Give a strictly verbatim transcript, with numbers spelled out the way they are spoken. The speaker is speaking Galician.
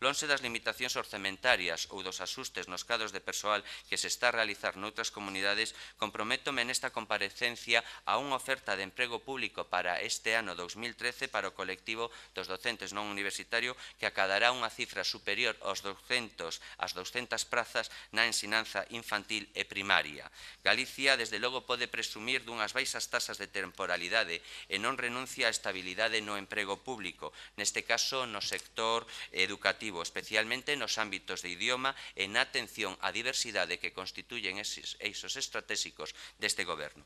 lonxe das limitacións orzamentarias ou dos asustes nos cadros de persoal que se está a realizar noutras comunidades, comprométome nesta comparecencia a unha oferta de emprego público para este ano dous mil trece para o colectivo dos docentes non universitarios que acadará unha cifra superior aos douscentos, ás douscentas prazas na ensinanza infantil e primaria. Galicia, desde logo, pode presumir dunhas baixas tasas de temporalidade e non renuncia á estabilidade no emprego público, neste caso no sector educativo, especialmente nos ámbitos de idioma e na atención á diversidade que constituyen eses eixos estratégicos deste Goberno.